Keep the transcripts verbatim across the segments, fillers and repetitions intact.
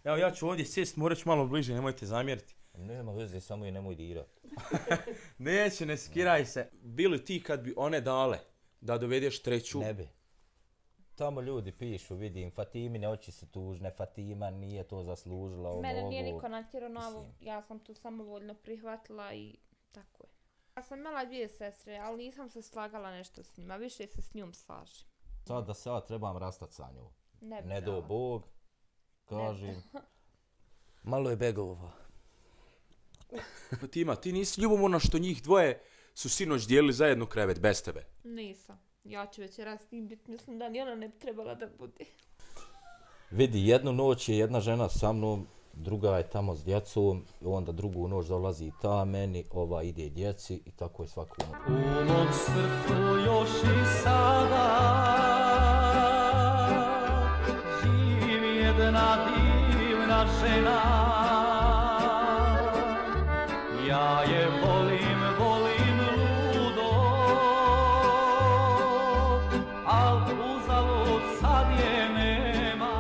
Evo ja ću ovdje sjest, morat ću malo bliže, nemojte zamjeriti. Nema veze, samo i nemoj dirat. Neće, ne skiraj se. Bili ti kad bi one dale da dovedeš treću? Ne bi. Tamo ljudi pišu, vidim, Fatimine oči su tužne, Fatima nije to zaslužila. Ono, Mene nije ovo. niko natjerao na ovo, ja sam to samovoljno prihvatila i tako je. Ja sam imala dvije sestre, ali nisam se slagala nešto s njima, više se s njom slažem. Sad da sad trebam rastat sa njom. Ne, Ne do Bog, kažem. Malo je begova. Fatima, ti nisi ljubomorna što njih dvoje su sinoć dijelili zajedno krevet bez tebe? Nisam. Ja ću večeras s njim biti, mislim da ni ona ne bi trebala da bude. Vidi, jednu noć je jedna žena sa mnom, druga je tamo s djecom, onda drugu noć dolazi i ta meni, ova ide djeci i tako je svaku noć. U mom srcu još i sada živi jedna divna žena. Ja je volim, volim ludo, al uzalud sad je nema.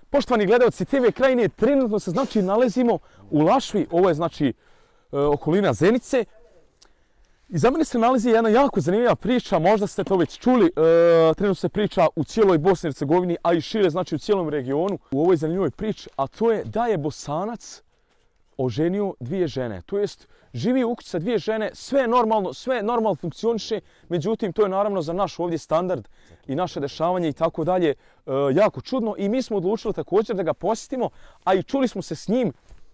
Poštovani gledalci te ve Krajine, trenutno se znači nalazimo u Lašvi, ovo je znači e, okolina Zenice. I za mene se nalazi jedna jako zanimljiva priča, možda ste to već čuli, e, trenutno se priča u cijeloj Bosni i Hercegovini, a i šire, znači u cijelom regionu, u ovoj zanimljivoj priči, a to je da je Bosanac oženio dvije žene. To jest, živi u kući sa dvije žene, sve je normalno, sve normalno funkcioniše, međutim, to je naravno za naš ovdje standard i naše dešavanje i tako dalje jako čudno. I mi smo odlučili također da ga posjetimo, a i čuli smo se s njim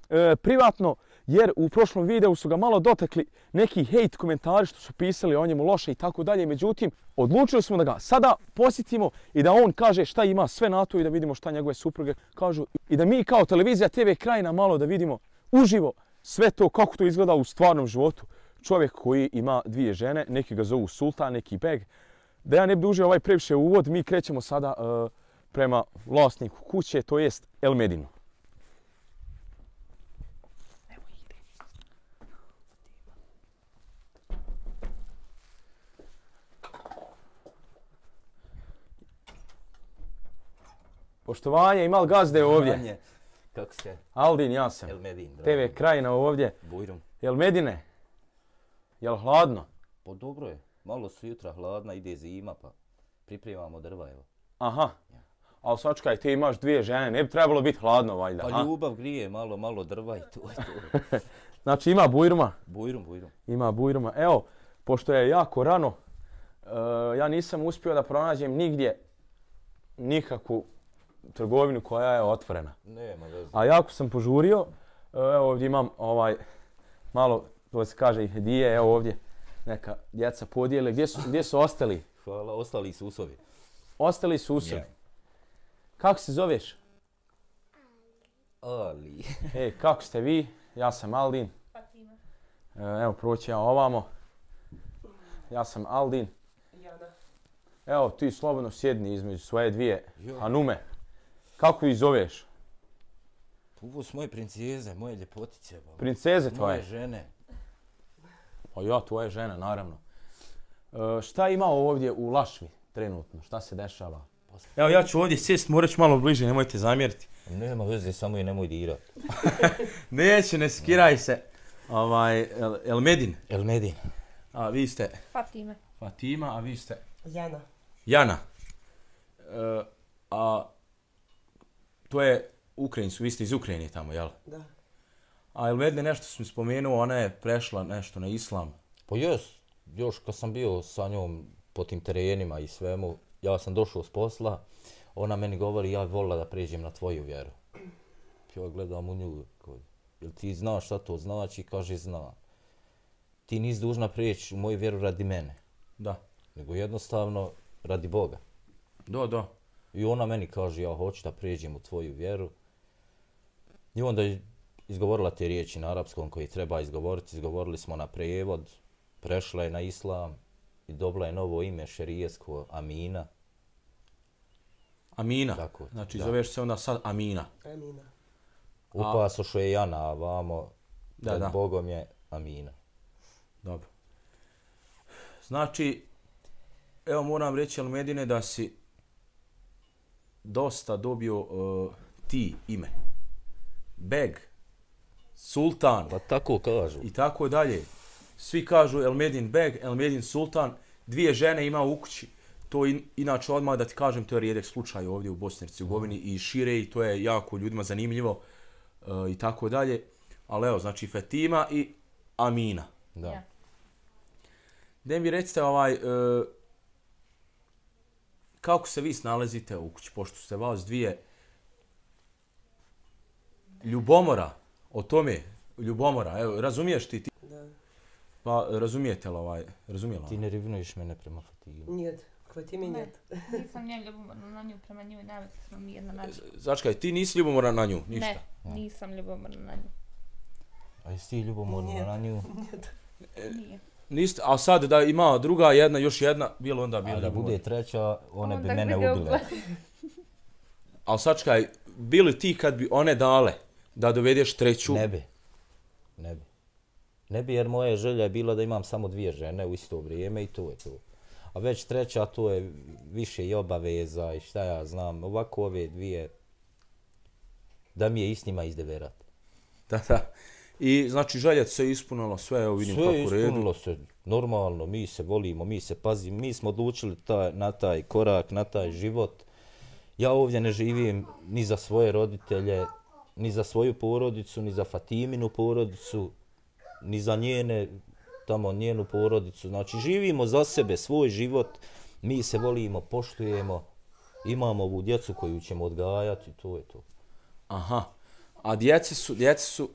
e, privatno, jer u prošlom videu su ga malo dotekli neki hejt komentari što su pisali o njemu loše i tako dalje. Međutim, odlučili smo da ga sada posjetimo i da on kaže šta ima sve na to i da vidimo šta njegove supruge kažu. I da mi kao televizija te ve Krajina malo da vidimo uživo sve to kako to izgleda u stvarnom životu. Čovjek koji ima dvije žene, neki ga zovu Sultan, neki Beg. Da ja ne bi dužio ovaj previše uvod, mi krećemo sada uh, prema vlasniku kuće, to jest El Medinu. Evo ide. Poštovanje, imal gazde ovdje. Manje. Kako ste? Aldin, ja sam. El Medin, drago. te ve Krajina ovdje. Bujrum. El Medine, jel hladno? Pa dobro je. Malo su jutra hladna, ide zima, pa pripremamo drva, evo. Aha. Ali sačkaj, ti imaš dvije žene, ne bi trebalo biti hladno valjda. Pa ljubav grije, malo, malo drva i to je to. Znači ima bujruma? Bujrum, bujrum. Ima bujruma. Evo, pošto je jako rano, uh, ja nisam uspio da pronađem nigdje nikakvu trgovinu koja je otvorena. Nema veze. A jako sam požurio. Uh, evo ovdje imam ovaj malo, to se kaže i hedije, evo ovdje neka djeca podijele. Gdje su, gdje su ostali? Hvala, ostali su usovi. Ostali su usovi. Yeah. Kako se zoveš? Ali. E, kako ste vi? Ja sam Aldin. Fatima. Evo, proći ja ovamo. Ja sam Aldin. Jana. Evo, ti slobodno sjedni između svoje dvije Jo. hanume. Kako ih zoveš? Ovo su moje princeze, moje ljepotice. Baba. Princeze tvoje? Moje žene. Pa ja, tvoje žene, naravno. E, šta ima ovdje u Lašvi trenutno? Šta se dešava? Evo ja ću ovdje sjest, morat ću malo bliže, nemojte zamjeriti. Nema veze, samo i nemoj dirat. Neće, ne skiraj se. Ovaj, El, El Medin. El Medin. A vi ste Fatima. Fatima, a vi ste Jana. Jana. E, a to je Ukrajinsu, vi ste iz Ukrajine tamo, jel? Da. A El Medin nešto sam spomenuo, ona je prešla nešto na islam. Pa jes, još kad sam bio sa njom po tim terenima i svemu, ja sam došao s posla, ona meni govori ja bi volila da pređem na tvoju vjeru. Ja gledam u nju, jel ti znaš šta to znači? Kaže zna. Ti nisi dužna prijeći u moju vjeru radi mene, Da. nego jednostavno radi Boga. Do, do. I ona meni kaže ja hoću da pređem u tvoju vjeru. I onda je izgovorila te riječi na arapskom koji treba izgovoriti. Izgovorili smo na prijevod, prešla je na islam i dobila je novo ime šerijesko Amina. Amina. Tako, Znači da. zoveš se onda sad Amina. Amina. U pasošu je Jana, a vamo Da, pred da. Bogom je Amina. Dobro. Znači, evo moram reći El Medine da si dosta dobio uh, Feti ime. Beg, Sultan Pa tako kažu. i tako dalje. Svi kažu Elmedin Beg, Elmedin Sultan, dvije žene ima u kući. To in, inače odmah da ti kažem, to je rijedak slučaj ovdje u Bosni i Hercegovini i šire i to je jako ljudima zanimljivo uh, i tako dalje. Ali evo, znači Fetima i Amina. Da. Ja. Da mi recite ovaj, uh, kako se vi snalazite u kući, pošto ste vas dvije ljubomora, o tome, ljubomora, evo, razumiješ ti? ti? Da. Pa, razumijete li ovaj, razumijela? Ti ne revnuješ mene prema Fatimi. Нет, Fatimi Ne, нет. nisam ja ljubomorna na nju, prema njoj navikli smo mi jedna na nju. Začkaj, ti nisi ljubomoran na nju, ništa? Ne, nisam ljubomorna na nju. A jesi ti ljubomorna Nije. na nju? Nije. Niste, a sad da ima druga jedna, još jedna, bilo onda A bilo da ljubomorna. bude treća, one bi Onda mene ga ubile. ubile. Ali sačkaj, bili ti kad bi one dale da dovedeš treću? Ne bi. Ne bi. Ne bi jer moja želja je bila da imam samo dvije žene u isto vrijeme i to je to. A već treća to je više i obaveza i šta ja znam. Ovako ove dvije da mi je i s njima izdeverat. Da, da. I znači želja ti se ispunilo sve, evo vidim Sve kako je u redu. ispunilo se normalno, mi se volimo, mi se pazimo, mi smo odlučili taj, na taj korak, na taj život. Ja ovdje ne živim ni za svoje roditelje, ni za svoju porodicu, ni za Fatiminu porodicu, ni za njene, tamo njenu porodicu. Znači živimo za sebe, svoj život, mi se volimo, poštujemo, imamo ovu djecu koju ćemo odgajati, to je to. Aha. A djece su, djece su,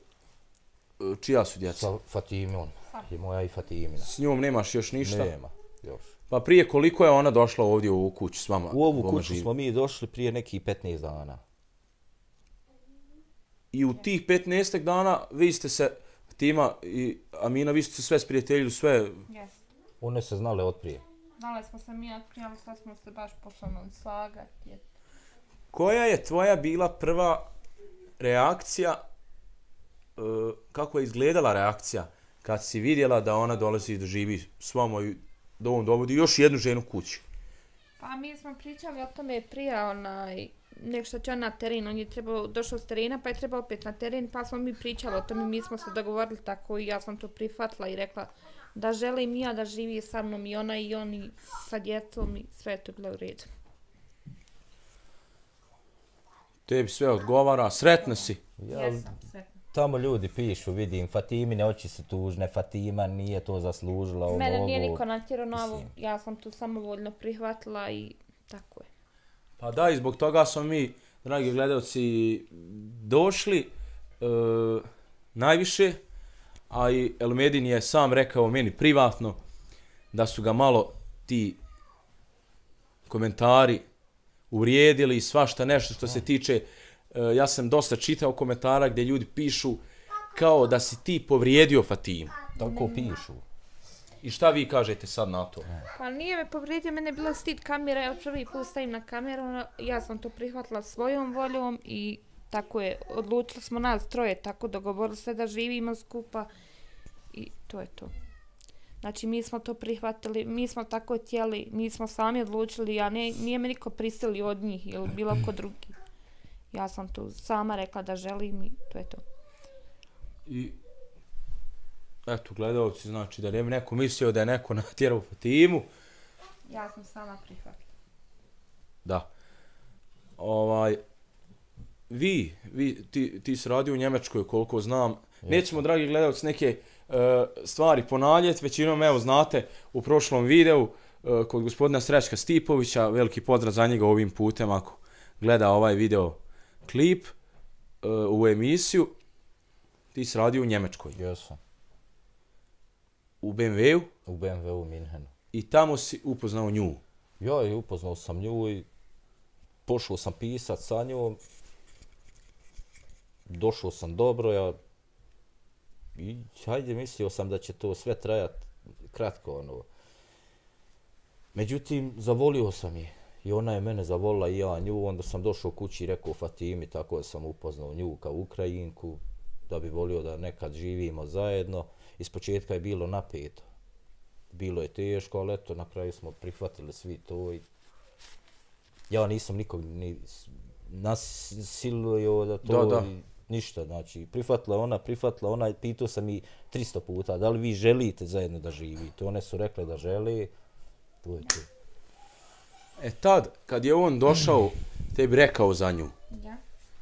e, čija su djeca? Sa Fatimom, i moja i Fatimina. S njom nemaš još ništa? Nema, još. Pa prije koliko je ona došla ovdje u ovu kuću s vama? U ovu Vama kuću živi? smo mi došli prije nekih petnaest dana. I u tih petnaest dana vi ste se, Tima i Amina, vi ste se sve sprijateljili, sve... Yes. One se znale od prije. Znali smo se mi otprije, ali sad smo se baš počeli slagati. Koja je tvoja bila prva reakcija, e, kako je izgledala reakcija kad si vidjela da ona dolazi da živi s vama i da on dovodi još jednu ženu kući? Pa mi smo pričali o tome prije, onaj, nešto će on na teren, on je trebao, došao s terena pa je trebao opet na teren, pa smo mi pričali o tome, mi smo se dogovorili tako i ja sam to prihvatila i rekla da želim ja da živi sa mnom i ona i on i sa djecom i sve je to bilo u redu. Tebi sve odgovara, sretna si. Ja, Jesam, sretna. tamo ljudi pišu, vidim, Fatimine oči su tužne, Fatima nije to zaslužila, ovo, Mene nije ovo. niko natjerao na ovo, Mislim. ja sam to samovoljno prihvatila i tako je. Pa da, i zbog toga smo mi, dragi gledalci, došli e, najviše, a i Elmedin je sam rekao meni privatno da su ga malo ti komentari uvrijedili i svašta nešto što se tiče, e, ja sam dosta čitao komentara gdje ljudi pišu kao da si ti povrijedio Fatimu. Tako pišu. I šta vi kažete sad na to? Pa nije me povrijedio, mene je bila stid kamera, ja prvi put stavim na kameru, ono, ja sam to prihvatila svojom voljom i tako je, odlučili smo nas troje, tako dogovorili se da živimo skupa i to je to. Znači mi smo to prihvatili, mi smo tako htjeli, mi smo sami odlučili, ja ne, nije me niko prisilio od njih ili bilo ko drugi. Ja sam to sama rekla da želim i to je to. I eto, gledalci, znači da ne bi neko mislio da je neko natjerao Fatimu. Ja sam sama prihvatila. Da. Ovaj, vi, vi ti, ti si radio u Njemačkoj, koliko znam. Nećemo, dragi gledalci, neke uh, stvari ponavljati. Većinom, evo, znate, u prošlom videu uh, kod gospodina Srećka Stipovića, veliki pozdrav za njega ovim putem, ako gleda ovaj video klip uh, u emisiju, ti si radio u Njemačkoj, Jesam. u be em ve-u U be em ve-u u Minhenu. i tamo si upoznao nju. Ja i upoznao sam nju i pošao sam pisat sa njom. Došao sam dobro, ja i hajde mislio sam da će to sve trajat kratko, ono. Međutim, zavolio sam je. I ona je mene zavolila i ja nju, onda sam došao kući i rekao Fatimi, tako da sam upoznao nju kao Ukrajinku, da bi volio da nekad živimo zajedno. Ispočetka je bilo napeto. Bilo je teško, ali eto, na kraju smo prihvatili svi to i ja nisam nikog ni nasilio da to Da, da. i ništa, znači prihvatila ona, prihvatila ona, pitao sam i tristo puta da li vi želite zajedno da živite, one su rekle da žele, to je to. E tad, kad je on došao, tebi rekao za nju, Ja.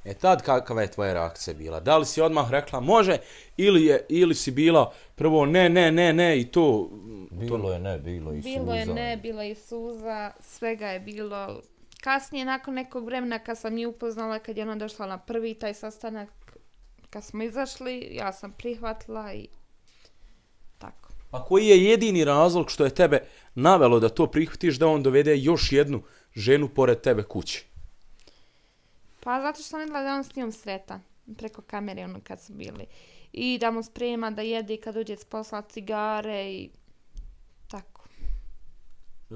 e tad kakva je tvoja reakcija bila? Da li si odmah rekla može ili, je, ili si bila prvo ne, ne, ne, ne i to... Bilo je ne, bilo i Bilo suza. je ne, bilo je suza, svega je bilo. Kasnije, nakon nekog vremena, kad sam ju upoznala, kad je ona došla na prvi taj sastanak, kad smo izašli, ja sam prihvatila i tako. A koji je jedini razlog što je tebe navelo da to prihvatiš da on dovede još jednu ženu pored tebe kući? Pa zato što sam vidjela da je on s njom sretan, preko kamere ono kad su bili. I da mu sprema da jede kad uđe s posla cigare i tako. E,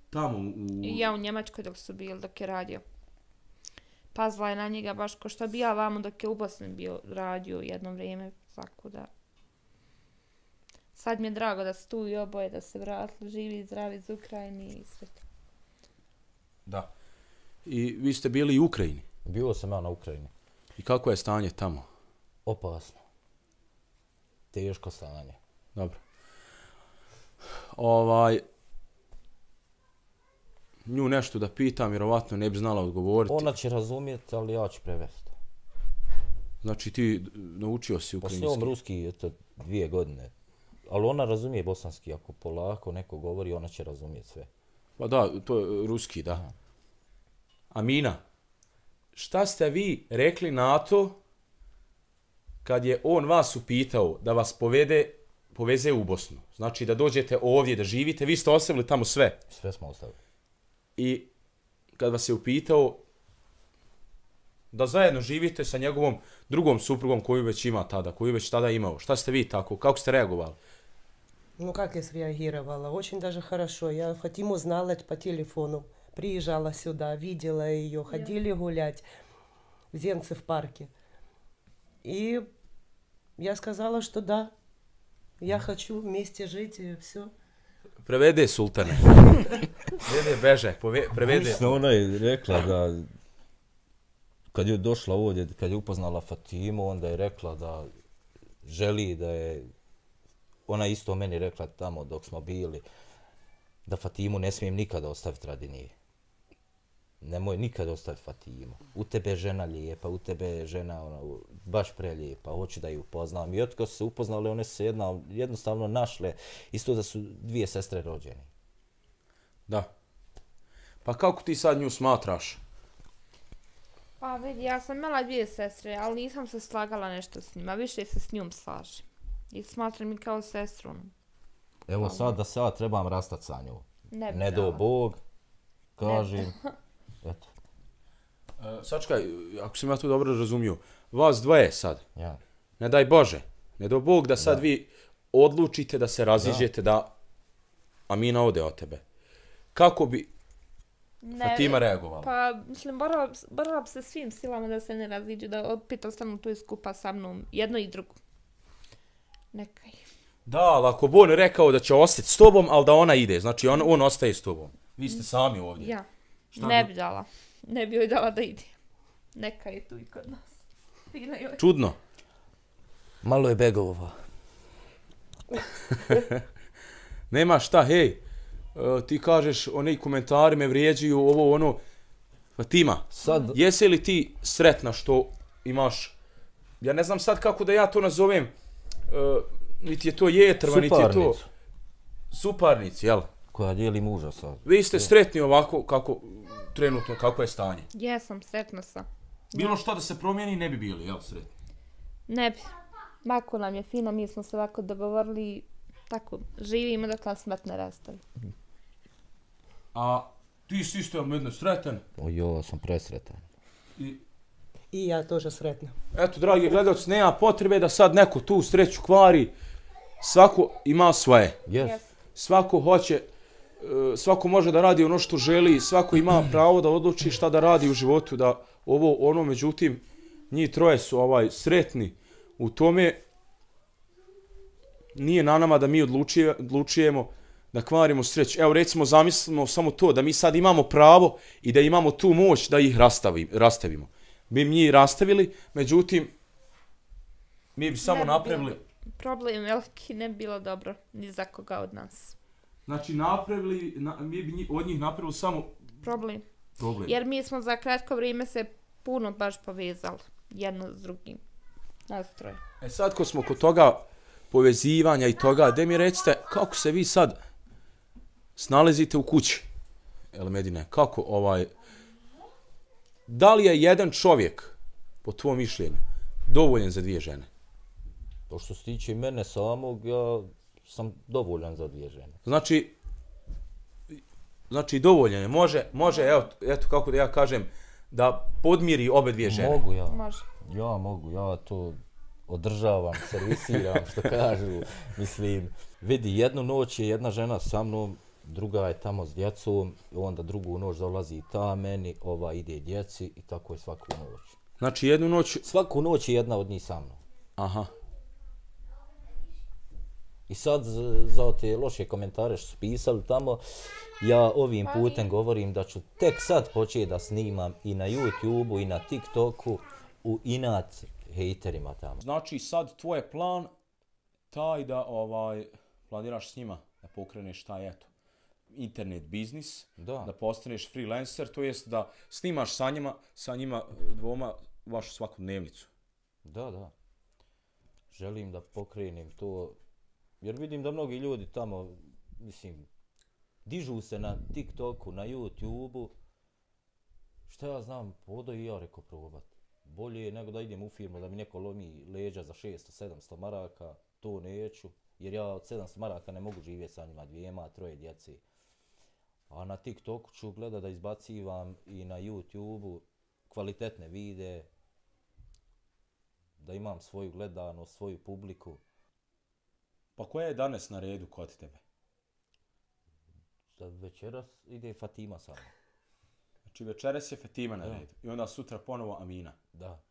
tamo u... I ja u Njemačkoj dok su bili, dok je radio. Pazila je na njega baš ko što bi ja vamo dok je u Bosni bio radio jedno vrijeme, tako da... Sad mi je drago da su tu i oboje, da se vratili živi i zdravi iz Ukrajine i sve to. Da. I vi ste bili u Ukrajini. Bio sam ja na Ukrajini. I kako je stanje tamo? Opasno. Teško stanje. Dobro. Ovaj... Nju nešto da pitam, vjerovatno ne bi znala odgovoriti. Ona će razumjeti, ali ja ću prevesti. Znači ti naučio si Pa s ukrajinski. njom ruski, eto, dvije godine. Ali ona razumije bosanski, ako polako neko govori, ona će razumjeti sve. Pa da, to je ruski, da. Aha. Amina, šta ste vi rekli na to kad je on vas upitao da vas povede, poveze u Bosnu? Znači da dođete ovdje, da živite, vi ste ostavili tamo sve. Sve smo ostavili. I kad vas je upitao da zajedno živite sa njegovom drugom suprugom koju već ima tada, koju već tada imao, šta ste vi tako, kako ste reagovali? Ну, как я среагировала? Очень даже хорошо. Я Фатиму знала по телефону. Приезжала сюда, видела ее, ходили гулять в Зенце в парке. И я сказала, что да, я хочу вместе жить, и все. Prevede sultane. Prevede beže, pove, prevede. Mislim, ona je rekla da kad je došla ovdje, kad je upoznala Fatimu, onda je rekla da želi da je, ona isto meni rekla tamo dok smo bili, da Fatimu ne smijem nikada ostaviti radi nje. Nemoj nikada ostaviti Fatimu. U tebe je žena lijepa, u tebe je žena ona, baš prelijepa, hoću da ju upoznam. I otko su se upoznali, one su se jedna, jednostavno našle, isto da su dvije sestre rođeni. Da. Pa kako ti sad nju smatraš? Pa vidi, ja sam imala dvije sestre, ali nisam se slagala nešto s njima, više se s njom slažem. I smatram i kao sestru. Evo sad da se ja trebam rastati sa njom. Ne bi Ne do dala. Bog, kažem. Eto, E, sačkaj, ako sam ja to dobro razumio, vas dvoje sad, ja. ne daj Bože, ne do Bog da sad Da. vi odlučite da se raziđete, da. da Amina ode od tebe. Kako bi Ne, Fatima reagovala? Pa, mislim, morala, morala bi se svim silama da se ne raziđu, da opet ostanu tu skupa sa mnom, jedno i drugo. Nekaj. Da, ali ako bi on rekao da će ostati s tobom, ali da ona ide, znači on, on ostaje s tobom. Vi ste sami ovdje. Ja, Šta ne bi- bi dala. Ne bi joj dala da ide. Neka je tu i kod nas. Fina joj. Čudno. Malo je begova. Nema šta, hej, e, ti kažeš, oni komentari me vrijeđuju, ovo ono. Fatima, Sad, jesi li ti sretna što imaš, ja ne znam sad kako da ja to nazovem, e, niti je to jetrva, niti je to suparnicu suparnici, jel? koja dijeli muža sad. Vi ste sretni ovako kako, trenutno, kako je stanje. Jesam, sretna sam. Bilo šta da se promijeni, ne bi bili, jel, sretni? Ne bi. Mako nam je fino, mi smo se ovako dogovorili, tako živimo dok nas smrt ne rastavi. A ti si isto medno sretan. O jo, sam presretan. I, И я тоже сретна. eto, dragi gledalci, nema potrebe da sad neko tu sreću kvari. Svako ima svoje. Yes. Svako hoće, e, svako može da radi ono što želi, svako ima pravo da odluči šta da radi u životu, da ovo, ono, međutim, njih troje su ovaj sretni u tome. Nije na nama da mi odlučuje, odlučujemo da kvarimo sreću. Evo recimo zamislimo samo to da mi sad imamo pravo i da imamo tu moć da ih rastavi, rastavimo. Mi bi njih rastavili, međutim mi bi samo Ne bi napravili... bilo- Problem veliki ne bi bilo dobro ni za koga od nas. Znači napravili, na, mi bi njih, od njih napravili samo Problem. problem. Jer mi smo za kratko vrijeme se puno baš povezali jedno s drugim. Nastroje. E sad ko smo kod toga povezivanja i toga, de mi recite kako se vi sad snalazite u kući, Elmedine, kako ovaj, da li je jedan čovjek, po tvojom mišljenju, dovoljan za dvije žene? To što se tiče mene samog, ja sam dovoljan za dvije žene. Znači, znači dovoljan je, može, može, evo, eto kako da ja kažem, da podmiri obe dvije žene. Mogu ja. Može. Ja mogu, ja to održavam, servisiram, što kažu. Mislim, vidi, jednu noć je jedna žena sa mnom, druga je tamo s djecom, onda drugu noć dolazi ta meni, ova ide djeci i tako je svaku noć. Znači jednu noć, Svaku noć je jedna od njih sa mnom. aha, I sad z- za te loše komentare što su pisali tamo, ja ovim putem govorim da ću tek sad početi da snimam i na YouTubeu i na TikToku u inat hejterima tamo. znači sad tvoj je plan taj da ovaj planiraš s njima da pokreneš taj eto internet biznis, Da. da postaneš freelancer, to jest da snimaš sa njima, sa njima dvoma vašu svakodnevnicu. Da, da. Želim da pokrenem to, jer vidim da mnogi ljudi tamo, mislim, dižu se na TikToku, na YouTubeu. Šta ja znam, podo i ja reko probat. Bolje je nego da idem u firmu da mi neko lomi leđa za šesto sedamsto maraka, to neću. Jer ja od sedamsto maraka ne mogu živjeti sa njima, dvijema, troje djece. A na TikToku ću gledat da izbacivam i na YouTubeu kvalitetne videe, da imam svoju gledanost, svoju publiku. Pa koja je danas na redu kod tebe? Da večeras ide Fatima samo. Znači večeras je Fatima na redu i onda sutra ponovo Amina. Da.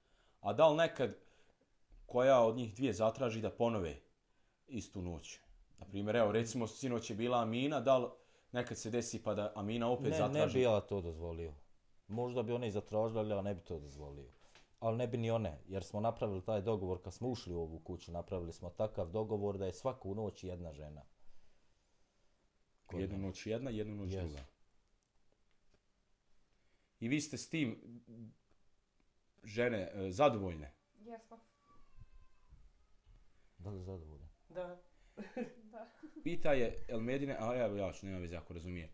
A da li nekad koja od njih dvije zatraži da ponove istu noć? Naprimjer, evo recimo sinoć je bila Amina, da li nekad se desi pa da Amina opet Ne, zatraži? ne bi ja to dozvolio. Možda bi one i zatražili, ali ja ne bi to dozvolio. Ali ne bi ni one, jer smo napravili taj dogovor kad smo ušli u ovu kuću, napravili smo takav dogovor da je svaku noć jedna žena. Kod Jednu mene. noć jedna, jednu noć Yes. druga. I vi ste s tim žene e, zadovoljne? Jesmo. Da li zadovoljan? Да. Pita je Elmedine, a evo ja ću, nema veze ako razumije.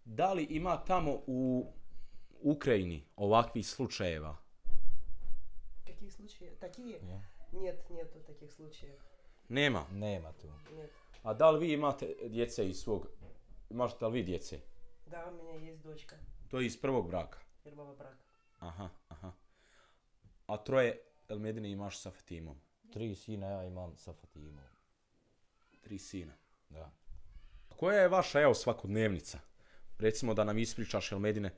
Da li ima tamo u Ukrajini ovakvih slučajeva? Какие случаи? Такие? Ja. Нет, нету таких случаев. Nema. Nema tu. Нет. A da li vi imate djece iz svog, imate li vi djece? Да, у меня есть дочка To je iz prvog braka. первого брака. Aha, aha. A troje Elmedine imaš sa Fatimom. Tri sina ja imam sa Fatimom. Tri sina. Da. Koja je vaša, evo, svakodnevnica? Recimo da nam ispričaš, Elmedine,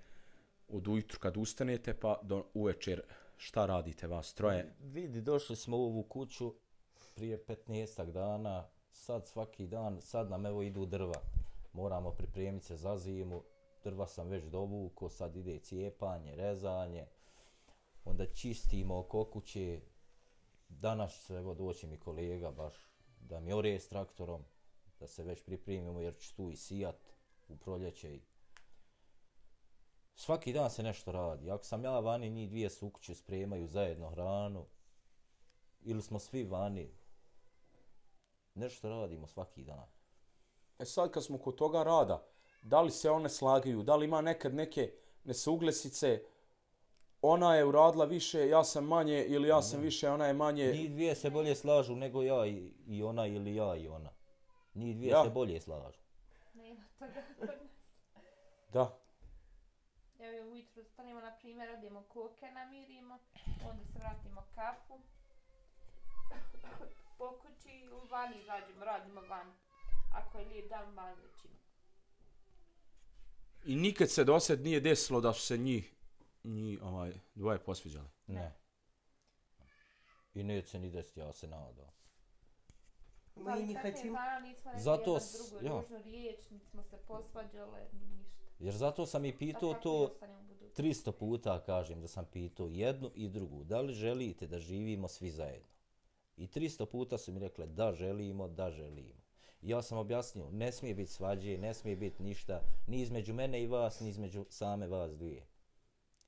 od ujutru kad ustanete pa do uvečer šta radite vas troje? Vidi, došli smo u ovu kuću prije petnaestak dana, sad svaki dan, sad nam evo idu drva. Moramo pripremiti se za zimu, drva sam već dovuko, sad ide cijepanje, rezanje, onda čistimo oko kuće. Danas će evo doći mi kolega baš da mi orije s traktorom, da se već pripremimo jer ću tu i sijat u proljeće. i Svaki dan se nešto radi. Ako sam ja vani, njih dvije su u kući spremaju zajedno hranu. Ili smo svi vani. Nešto radimo svaki dan. E sad kad smo kod toga rada, da li se one slagaju, da li ima nekad neke nesouglesice, ona je uradila više, ja sam manje, ili ja sam više, ona je manje. Njih dvije se bolje slažu nego ja i, i ona ili ja i ona. Njih dvije Ja. se bolje slažu. Nema toga kod nas. Da. Evo ujutru stanemo, na primjer, odemo koke namirimo, onda se vratimo kafu. Po kući u vani izađemo, radimo van. Ako je lijep dan, van većinu. I nikad se dosad nije desilo da su se njih, njih ovaj, dvoje posviđali. Ne. I neće se ni desiti, ja se nadam. Мы и не хотим. Zato Zato s- drugu ja. ružnu riječ, niti smo se posvađale, ni ništa. Jer zato sam i pitao Tako to mi ostanemo u budućnosti. tristo puta, kažem da sam pitao jednu i drugu. Da li želite da živimo svi zajedno? I tristo puta su mi rekle da želimo, da želimo. I ja sam objasnio, ne smije biti svađe, ne smije biti ništa, ni između mene i vas, ni između same vas dvije.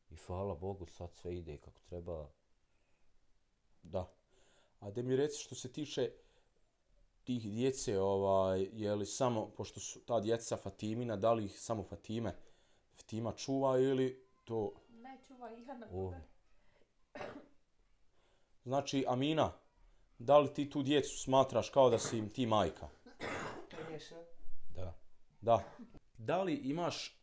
I hvala Bogu, sad sve ide kako treba. Da. A da mi reci što se tiče tih djece, ovaj, je li samo, pošto su ta djeca Fatimina, da li ih samo Fatime, Fatima čuva ili to... Ne čuva i ja na O, Znači, Amina, da li ti tu djecu smatraš kao da si im ti majka? Конечно. da. Da. Da li imaš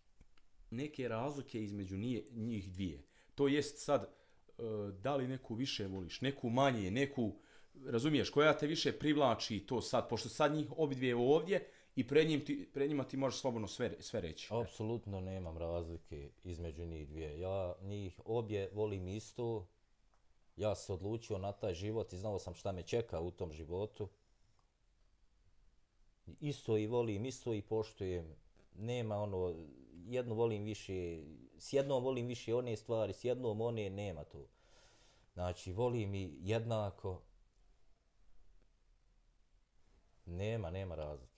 neke razlike između nije, njih dvije? To jest sad, e, da li neku više voliš, neku manje, neku, razumiješ, koja te više privlači to sad, pošto sad njih obidvije ovdje i pred, njim ti, pred njima ti možeš slobodno sve, sve reći. Apsolutno nemam razlike između njih dvije. Ja njih obje volim isto. Ja sam se odlučio na taj život i znao sam šta me čeka u tom životu. Isto i volim, isto i poštujem. Nema ono, jednu volim više, s jednom volim više one stvari, s jednom one, nema to. Znači, volim i jednako. Nema, nema razlike.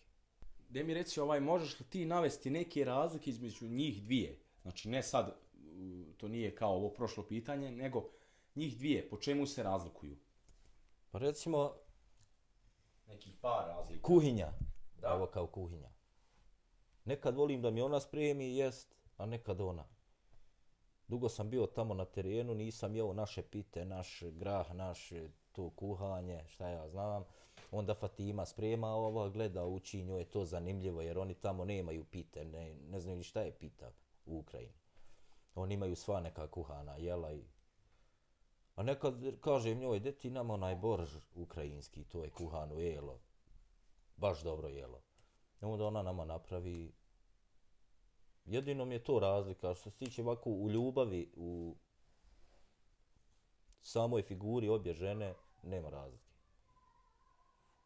Da mi reci, ovaj, možeš li ti navesti neke razlike između njih dvije? Znači, ne sad, u, to nije kao ovo prošlo pitanje, nego njih dvije, po čemu se razlikuju? Pa recimo, Nekih par razlika. kuhinja. Da. Evo kao kuhinja. Nekad volim da mi ona spremi jest, a nekad ona. Dugo sam bio tamo na terenu, nisam jeo naše pite, naš grah, naš to kuhanje, šta ja znam. Onda Fatima sprema ovo, gleda, uči, njoj je to zanimljivo jer oni tamo nemaju pite, ne, ne znaju ni šta je pita u Ukrajini. Oni imaju sva neka kuhana jela i... A nekad kažem njoj, de ti nama onaj borž ukrajinski, to je kuhano jelo. Baš dobro jelo. I onda ona nama napravi. Jedino mi je to razlika, što se tiče ovako u ljubavi, u samoj figuri obje žene, nema razlike.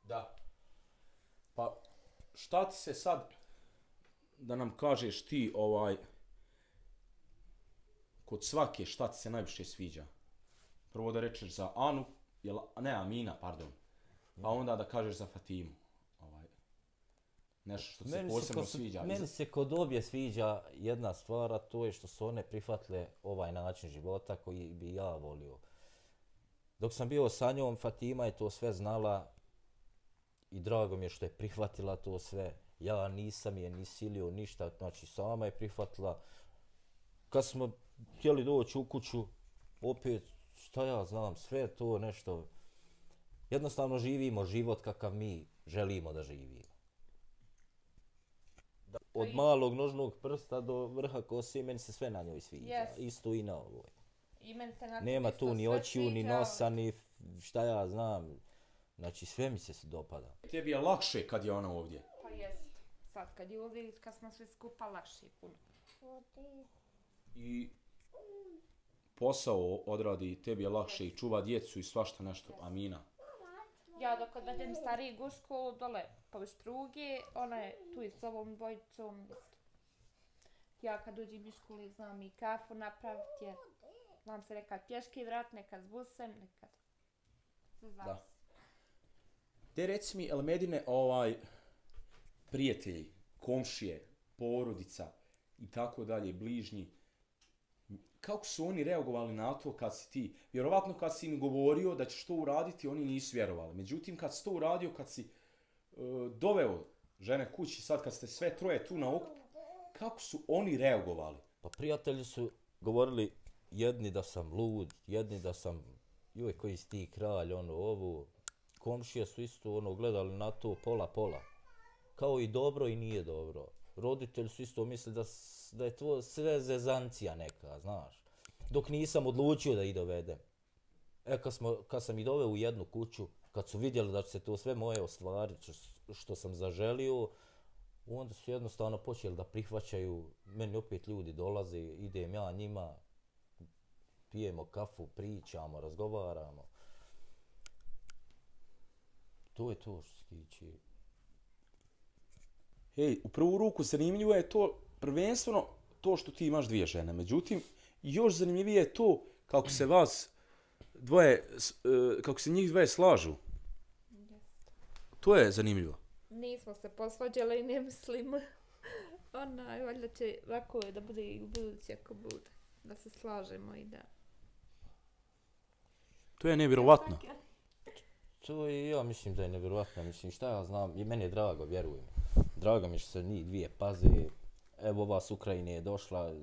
Da. Pa, šta ti se sad, da nam kažeš ti, ovaj, kod svake šta ti se najviše sviđa? Prvo da rečeš za Anu, jel, ne Amina, pardon. Pa onda da kažeš za Fatimu. Ovaj, nešto što ti se Meni se, posebno kod, sviđa. meni se kod obje sviđa jedna stvar, a to je što su one prihvatile ovaj način života koji bi ja volio. Dok sam bio sa njom, Fatima je to sve znala i drago mi je što je prihvatila to sve. Ja nisam je ni silio ništa, znači sama je prihvatila. Kad smo htjeli doći u kuću, opet, šta ja znam, sve to nešto. Jednostavno živimo život kakav mi želimo da živimo. Od malog nožnog prsta do vrha kose, meni se sve na njoj sviđa. Yes. Isto i na ovoj. I meni se na tom Nema isto tu ni sve očiju, ni sviđa. nosa, ni f- šta ja znam. Znači sve mi se dopada. Tebi je lakše kad je ona ovdje. Pa jest. Sad kad je ovdje, kad smo svi skupa, lakše je puno. I posao odradi, tebi je lakše i čuva djecu i svašta nešto. Amina. Ja dok odvedem stariji u školu dole poviš pruge, ona je tu i s ovom dvojicom. Ja kad uđem iz škole znam i kafu napraviti jer znam se nekad pješke vrat, nekad s busem, nekad se zavisi. Te reci mi, Elmedine, ovaj, prijatelji, komšije, porodica i tako dalje, bližnji, kako su oni reagovali na to kad si ti, vjerovatno kad si im govorio da ćeš to uraditi, oni nisu vjerovali. Međutim, kad si to uradio, kad si uh, doveo žene kući, sad kad ste sve troje tu na okupu, kako su oni reagovali? Pa prijatelji su govorili jedni da sam lud, jedni da sam, joj koji si ti kralj, ono ovo. Komšije su isto ono gledali na to pola pola. Kao i dobro i nije dobro. Roditelji su isto mislili da, s- da je to sve zezancija neka, znaš. Dok nisam odlučio da ih dovedem. E, kad, smo, kad sam ih doveo u jednu kuću, kad su vidjeli da će se to sve moje ostvariti, što, što sam zaželio, onda su jednostavno počeli da prihvaćaju, meni opet ljudi dolaze, idem ja njima, pijemo kafu, pričamo, razgovaramo. To je to što se tiče. Hej, u prvu ruku zanimljivo je to prvenstveno to što ti imaš dvije žene. Međutim, još zanimljivije je to kako se vas dvoje, kako se njih dvoje slažu. To je zanimljivo. Nismo se posvađali i ne mislim. Onaj, valjda će ovako da bude i u budući ako bude. Da se slažemo i da... To je nevjerovatno. To je, ja mislim da je nevjerojatno, mislim šta ja znam, i meni je drago, vjeruj mi. Drago mi što se njih dvije paze, evo ova s Ukrajine je došla,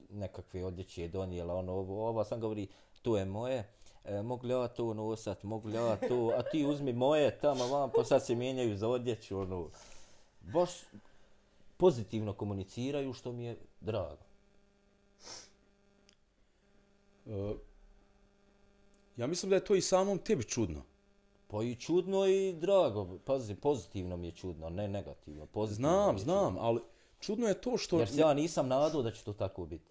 nekakve odjeće je donijela, ono, ova sam govori, to je moje, e, mogu li ja to nosat, mogu li ja to, a ti uzmi moje tamo vam, pa sad se mijenjaju za odjeću, ono, baš pozitivno komuniciraju, što mi je drago. Uh, ja mislim da je to i samom tebi čudno. Pa i čudno i drago, pazi, pozitivno mi je čudno, ne negativno, pozitivno. Znam, znam, ali čudno je to što... Jer se ja nisam nadao da će to tako biti.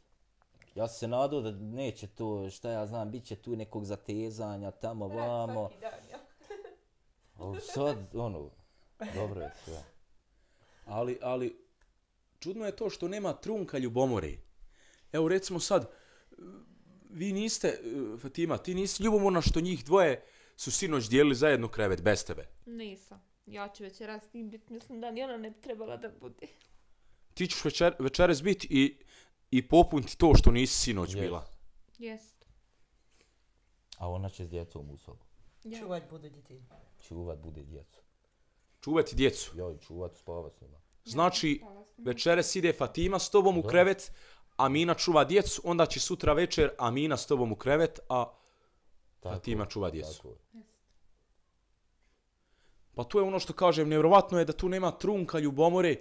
Ja sam se nadao da neće to, šta ja znam, bit će tu nekog zatezanja, tamo, vamo. Ali sad, ono, dobro je sve. Ali, ali, čudno je to što nema trunka ljubomore. Evo, recimo sad, vi niste, Fatima, ti nisi ljubomorna što njih dvoje su sinoć dijelili zajedno krevet bez tebe. Nisam. Ja ću večeras s njim biti, mislim da ni ona ne bi trebala da bude. Ti ćeš večer, večeras biti i, i popuniti to što nisi sinoć Jest. bila. Jest. A ona će s djecom u sobu. Ja. Čuvat budu детей. Čuvat bude djecu. Čuvati djecu. Joj, čuvat, spavat s njima. Znači, večeras ide Fatima s tobom u krevet, Amina čuva djecu, onda će sutra večer Amina s tobom u krevet, a Tako, Fatima čuva djecu. tako je. Pa to je ono što kažem, nevjerovatno je da tu nema trunka ljubomore.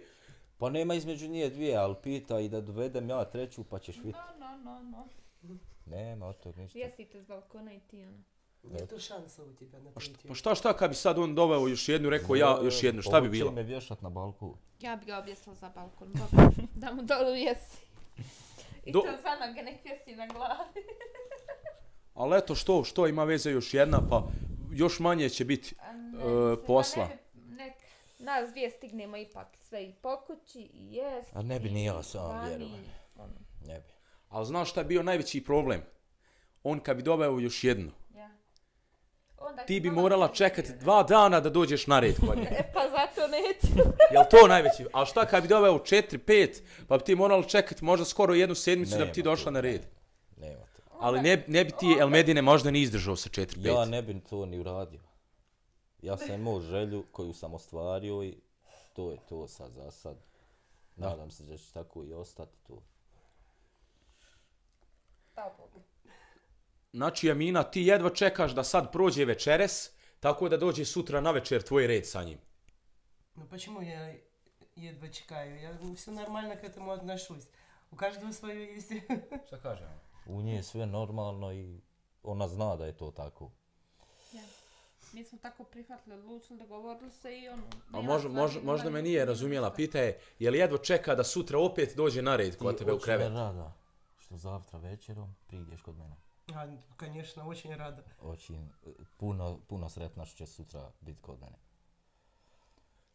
Pa nema između nije dvije, ali pita i da dovedem ja treću, pa ćeš vidjeti. No, no, no, no. Nema od tog ništa. Vjesite s balkona i ti ona. Нету шанса у тебя на Pa šta, третью. pa šta, šta kad bi sad on doveo još jednu, rekao ja još jednu, šta bi bilo? Hoće me vješat na balkon. Ja bi ga objesla za balkon, dobro, da mu dolu vjesi. I Do- to za noge nek vjesi na glavi. Ali eto što, što ima veze još jedna, pa još manje će biti A ne, e, mislim, posla. pa ne bi- nek, nas dvije stignemo ipak sve i pokući i jest. A ne bi ni ja sam vani, vjerovan. ono, Ne bi. Ali znaš šta je bio najveći problem? On kad bi doveo još jednu, ja. Onda ti bi mala morala vjesi. čekati dva dana da dođeš na red kod nje. E pa zato neću. Jel to najveći? A šta kad bi doveo četiri, pet, pa bi ti morala čekati možda skoro jednu sedmicu da bi ti Nema došla to, na red. Nema to. Ali ne, ne bi ti Elmedine možda ni izdržao sa četiri, pet. Ja ne bi to ni uradio. Ja sam imao želju koju sam ostvario i to je to sad za sad. Nadam se da će tako i ostati to. Znači, Amina, ti jedva čekaš da sad prođe večeres, tako da dođe sutra na večer tvoj red sa njim. Ну почему я едва чекаю? Я все нормально к этому отношусь. У каждого свое есть. Šta kažem? U nje je sve normalno i ona zna da je to tako. Ja. Mi smo tako prihvatili, odlučili, dogovorili se i ono... A možda, možda, možda me nije razumjela, pita je, je li jedva čeka da sutra opet dođe na red kod tebe u krevet? Ti rada što zavtra večerom priđeš kod mene. А, конечно, очень рада. Очень, puno, puno sretna što će sutra biti kod mene.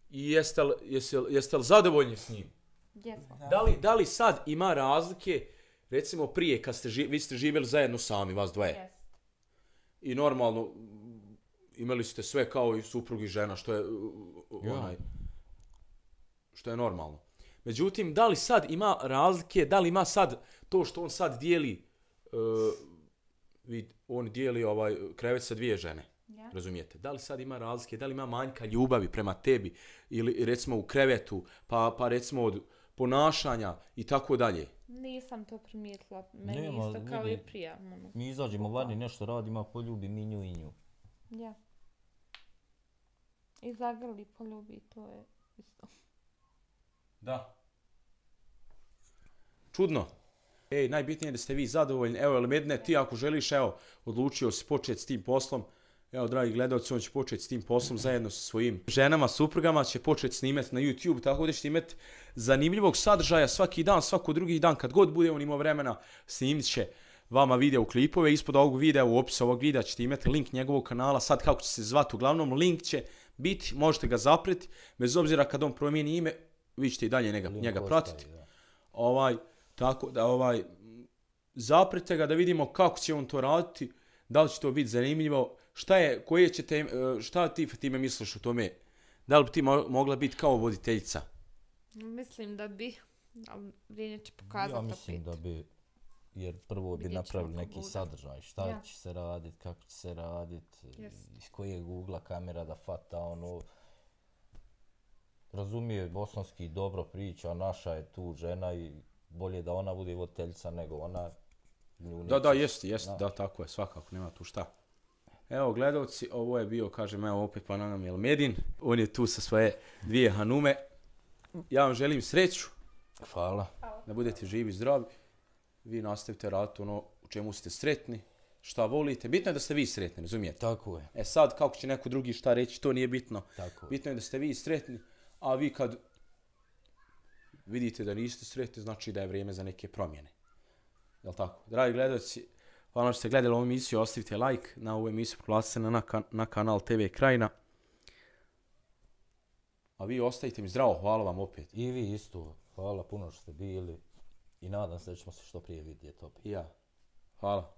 I jeste li, jeste, li- jeste li zadovoljni s njim? Jesmo. Da li, da li sad ima razlike, recimo prije kad ste, ži, vi ste živjeli zajedno sami, vas dvoje? Jest. I normalno, m, imali ste sve kao i suprug i žena, što je, uh, uh, Ja. onaj, što je normalno. Međutim, da li sad ima razlike, da li ima sad to što on sad dijeli, uh, vid, on dijeli ovaj krevet sa dvije žene, Ja. razumijete? Da li sad ima razlike, da li ima manjka ljubavi prema tebi, ili recimo u krevetu, pa, pa recimo od ponašanja i tako dalje? Nisam to primijetila, meni Nema, isto kao vidi. i prije. Ono. Mi izađemo vani, nešto radimo, poljubi mi nju i nju. Ja. I zagrli, poljubi, to je isto. Da. Čudno. Ej, najbitnije je da ste vi zadovoljni. Evo, Elmedine, ti ako želiš, evo, odlučio si početi s tim poslom. Evo, dragi gledalci, on će početi s tim poslom zajedno sa svojim ženama, suprugama, će početi snimati na YouTube, tako da ćete imati zanimljivog sadržaja svaki dan, svako drugi dan, kad god bude on imao vremena, snimit će vama video klipove. Ispod ovog videa, u opisu ovog videa ćete imati link njegovog kanala, sad kako će se zvati, uglavnom link će biti, možete ga zapreti, bez obzira kad on promijeni ime, vi ćete i dalje njega, Link njega ostaje, pratiti. da. Ovaj, tako da ovaj, zaprete ga da vidimo kako će on to raditi, da li će to biti zanimljivo, šta je, koje će te, šta ti Fatime misliš o tome, da li bi ti mo- mogla biti kao voditeljica? Mislim da bi, ali vrijeme će pokazati Ja mislim opet. da bi, jer prvo bi Vidjet ćemo napravili ko neki bude. sadržaj, šta Ja. će se radit, kako će se radit, Jest. iz kojeg ugla kamera da fata, ono, razumije bosanski dobro priča, naša je tu žena i bolje da ona bude voditeljica nego ona. nju Da, da, neće- jeste, jeste, da, tako je, svakako, nema tu šta. Evo, gledalci, ovo je bio, kažem, evo opet Banana Melmedin, on je tu sa svoje dvije hanume. Ja vam želim sreću, Hvala. da budete živi i zdravi. Vi nastavite raditi ono u čemu ste sretni, šta volite. Bitno je da ste vi sretni, razumijete? Tako je, E sad, kako će neko drugi šta reći, to nije bitno. tako je. Bitno je da ste vi sretni, a vi kad vidite da niste sretni, znači da je vrijeme za neke promjene. Jel' tako? Dragi gledalci, hvala što ste gledali ovu emisiju, ostavite like na ovu emisiju, proglasite na, na, kan- na kanal T V Krajina. A vi ostavite mi zdravo, hvala vam opet. I vi isto, hvala puno što ste bili i nadam se da ćemo se što prije vidjeti opet. I ja. Hvala.